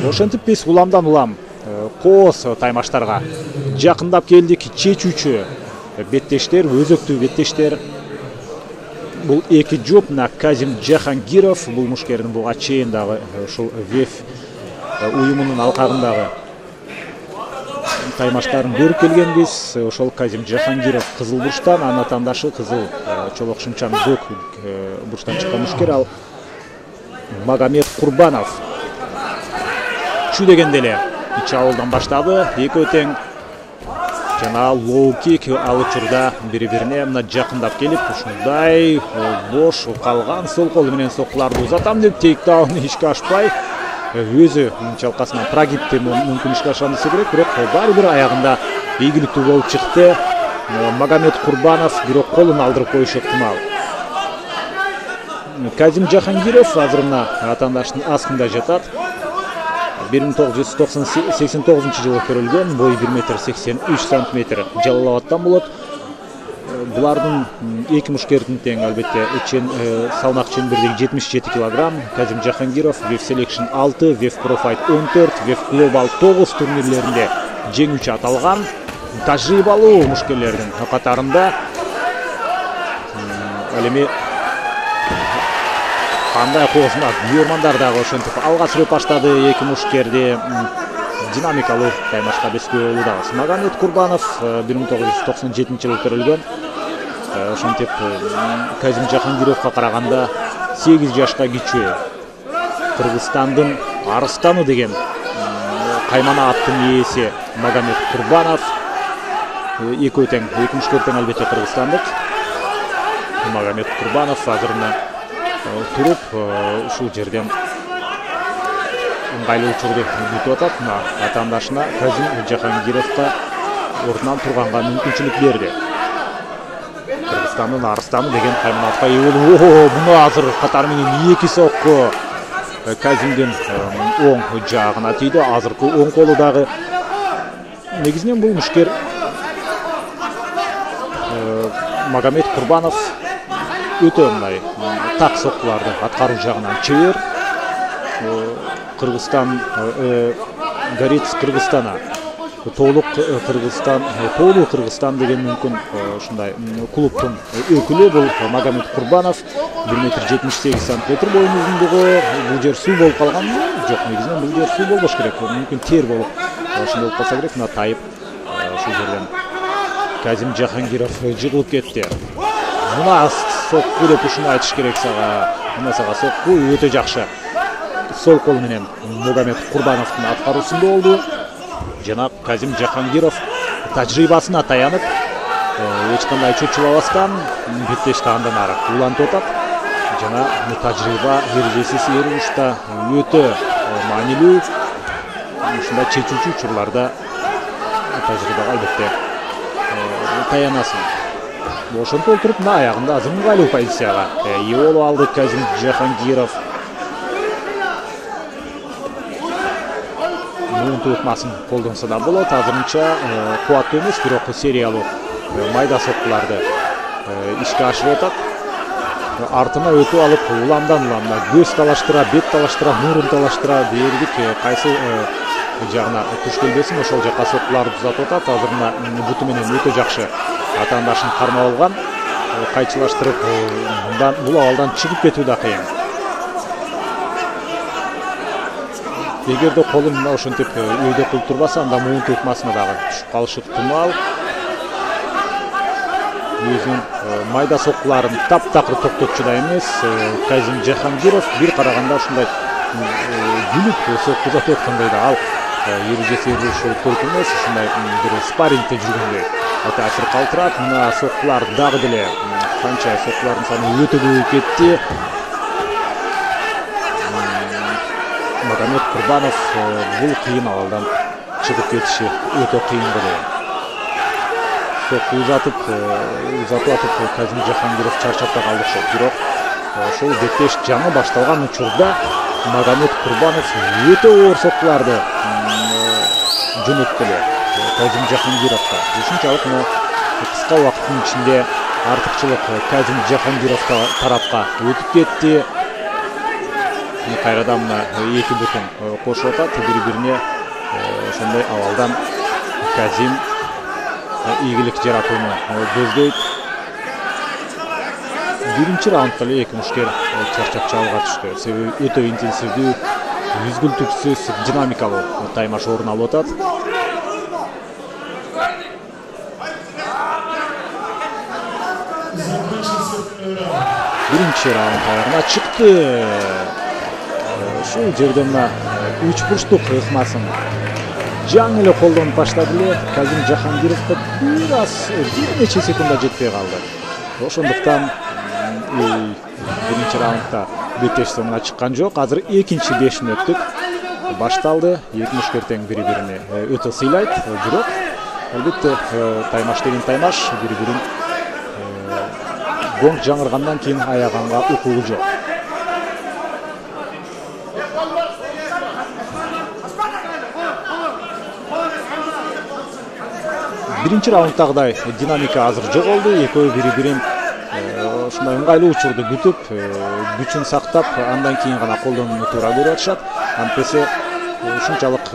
Ошентип биз уламдан улам кооз таймаштарга жакындап келдик. Чечүүчү беттештер, өзөктүү беттештер. Бул эки жоп на Казим Жахангиров, бул мушкердин буга чейин дагы ушул ВЕФ уюмунун алкагындагы таймаштарын көрүп келгенбиз. Ошол Казим Жахангиров кызыл бурчтан, анын атаандашы кызыл чолок шымчан көк бурчтан чыккан мушкер. Ал Магомед Курбанов чү дегенде эле ич абалдан баштады. Экөө тең жана лоу-кик ал учурда бири-бирине мына жакындап келип, ушундай бош калган сол кол менен соккуларды узатам деп тейктауну ишке ашпай, өзү чалкасынан прогибти мүмкүн ишке ашкан десе керек, бирок баары бир аягында ийгиликтүү болуп чыкты. Магомед Курбанов бирок колун алдырып коюшу ыктымал. Казим Жахангиров азыр мына атаандашынын астында жатат. 1989 жылы көрүлгөн, бою 1,83 сантиметр Жалал-Абадтан болот. Булардын эки мушкердин тең албетте салмак чембердеги 77 кг. Казим Жахангиров ВЕФ Selection 6, ВЕФ Pro Fight 14, ВЕФ Global 9 турнирлеринде жеңүүчү аталган. Тажрыйбалуу мушкерлердин катарында. Ал эми кандай коосуна күйөрмандар дагы ошентип алга сүрөп баштады эки мушкерди. Динамикалуу таймашка бескөө болуудабыз. Магомед Курбанов 1997 жылы көрүлгөн. Ошентип Казим Жахангировго караганда 8 жашка кичүү. Кыргызстандын арыстаны деген каймана аттын ээси Магомед Курбанов. Экөө тең, эки мушкер тең албетте кыргызстандык. Магомед Курбанов азырына туруп ушул жерден ыңгайлуу учурду күтүп атат. Атаандашына Казим Жахангировго ордунан турганга мүмкүнчүлүк берди. Кыргызстандын арыстаны деген кайманатка ээ болуп, муну азыр катары менен эки сокку Казимдин оң жагына тийди. Азыркы оң колу дагы негизинен бул мушкер Магомед Курбанов өтө мындай так соккуларды аткаруу жагынан чебер. Кыргызстан Горец Кыргызстана, Тоолуу Кыргызстан деген мүмкүн ушундай клубтун өкүлү бул Магомед Курбанов. 1,78 сантиметр боюн узундугу. Бул жер суу болуп калган. Жок, негизинен бул жер суу болбош керек. Мүмкүн тер болуп ошондой болуп калса керек. Мына тайып ушул жерден Казим Жахангиров жыгылып кетти. Мына сокку деп ушуну айтыш керек сага. Мына сага сокку өтө жакшы. Сол кол менен Магомед Курбановдун аткаруусунда болду. Жана Казим Жахангиров тажрыйбасына таянып, эч кандай чочулабастан беттешти андан ары улантып атат. Жана тажрыйба эрежесиз урушта өтө маанилүү. Ушундай чечүүчү учурларда тажрыйбага албетте таянасың. Ошентип отуруп мына аягында азыр ыңгайлуу позицияга ээ болуп алды Казим Жахангиров. Муунту ыкмасын колдонсо да болот. Азырынча кубаттуу эмес, бирок сериялуу майда соккуларды ишке ашырып атат. Артына өтүп алып уламдан уламда көз талаштыра, бет талаштыра, мурун талаштыра бердик. Кайсы жагына туш келбесин ошол жакка соккуларды узатып атат. Азырына буту менен өтө жакшы атаандашын кармап алган. Кайчылаштырып бул абалдан чыгып кетүү да кыйын. Эгерде колун мына ошентип өйдө кылып турбаса, анда муунту ыкмасына дагы түшүп калышы ыктымал. Өзүнүн майда соккуларын таптакыр токтотчу да эмес. Казим Жахангиров бир караганда ушундай күлүп сокку узатып аткандай да ал эрежеси урушу көркүм эмес, ушундай бир спаррингде жүргөндөй таасир калтырат. Мына соккулар дагы деле канча соккулардын саны өтө көбөйүп кетти. Магомед Курбанов бул кыйын абалдан чыгып кетиши өтө кыйын болду. Сокку узатып атып Казим Жахангиров чарчап да калды окшойт. Бирок ошол беттеш жаңы башталган учурда Магомед Курбанов өтө оор соккуларды жөнөттү Казим Жахангировго. Ушунчалык мына кыска убакыттын ичинде артыкчылык Казим Жахангиров тарапка өтүп кетти. кайрадан мына эки бутун кошуп атат бири-бирине. Ошондой абалдан Казим ийгилик жаратууну көздөйт. Биринчи раундда эле эки мушкер чарчап чабууга түштү. Себеби өтө интенсивдүү, үзгүлтүксүз, динамикалуу таймаш орун алып атат. Биринчи раунд аягына чыкты. Ушул жерде мына 3 бурчтук ыкмасын жаңы эле колдонуп баштады эле. Казим Жахангировго бир нече секунда жетпей калды. Ошондуктан биринчи раундда беттеш соңуна чыккан жок. Азыр экинчи 5 мүнөттүк башталды. Эки мушкер тең бири-бирине өтө сыйлайт. Бирок албетте таймаш деген таймаш, бири-бирин гонг жаңыргандан кийин аяганга укугу жок. Биринчи раунддагыдай динамика азыр жоголду. Экөө бири-бирин ушундай ыңгайлуу учурду күтүп, күчүн сактап, андан кийин гана колдонууну туура көрүп атышат. Антесе ушунчалык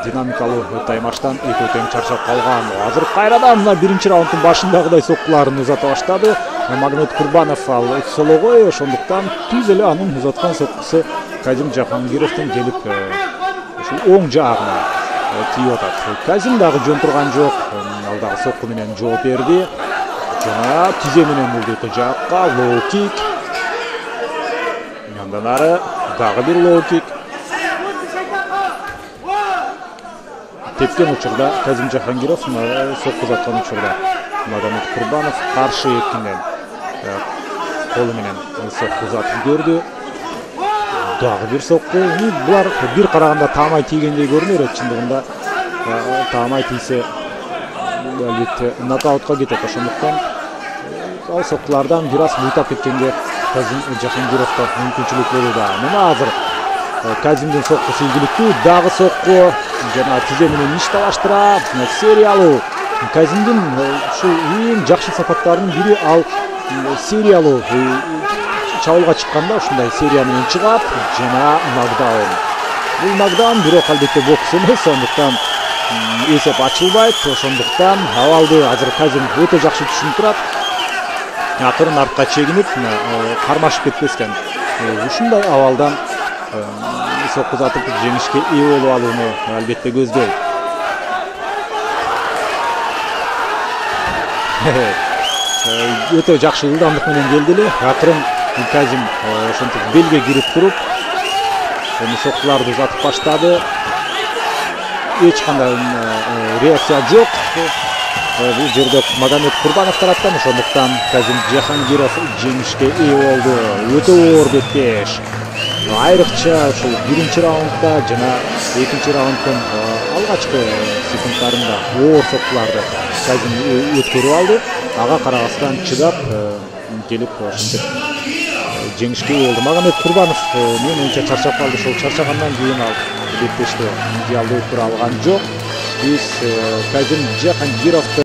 динамикалуу таймаштан экөө тең чарчап калган. Азыр кайрадан мына биринчи раунддун башындагыдай соккуларын узата баштады. Магомед Курбанов ал сологой, ошондуктан түз эле анын узаткан соккусу Казим Жахангировдун келип ушул оң жагына тийип атат. Казим дагы жөн турган жок. Ал дагы сокку менен жооп берди. Жана тизе менен мулдетти жакка лоу кик. Андан ары дагы бир лоу кик. Тепкен учурда Казим Жахангиров сокку узаткан учурда Магомед Курбанов каршы экинен колу менен сокку узатып көрдү. Дагы бир сокку. Булар бир караганда таамай тийгендей көрүнөр, чындыгында таамай тийсе албетте нокаутка кетет. Ошондуктан ал соккулардан бир аз буйтап кеткенге Казим Жахангировго мүмкүнчүлүк болууда. Мына азыр Казимдин соккусу ийгиликтүү, дагы сокку жана тизе менен иш талаштырат. Сериялуу Казимдин ушул эң жакшы сапаттарынын бири ал сериялуу чабуулга чыкканда ушундай серия менен чыгат жана нокдаун. Бул нокдаун бирок албетте бокс эмес, ошондуктан эсеп ачылбайт. Ошондуктан абалды азыр Казим өтө жакшы түшүнүп турат. Акырын артка чегинип, кармашып кетпестен ушундай абалдан сокку узатып жеңишке ээ болуп алууну албетте көздөйт. Өтө жакшы ылдамдык менен келди эле. Акырын Казим ошентип белге кирип туруп, эми соккуларды узатып баштады. Эч кандай реакция жок. Бул жерде Магомед Курбанов тараптан, ошондуктан Казим Жахангиров жеңишке ээ болду. Өтө оор беттеш. Айрыкча ушул биринчи раундда жана экинчи раунддун алгачкы секунддарында оор соккуларды Казим өткөрүп алды. Ага карабастан чыдап келип ошентип жеңишке ээ болду. Магомед Курбанов менин оюмча чарчап калды. Ошол чарчагандан кийин ал беттешти идеалдуу тура алган жок. Биз Казим Жахангировду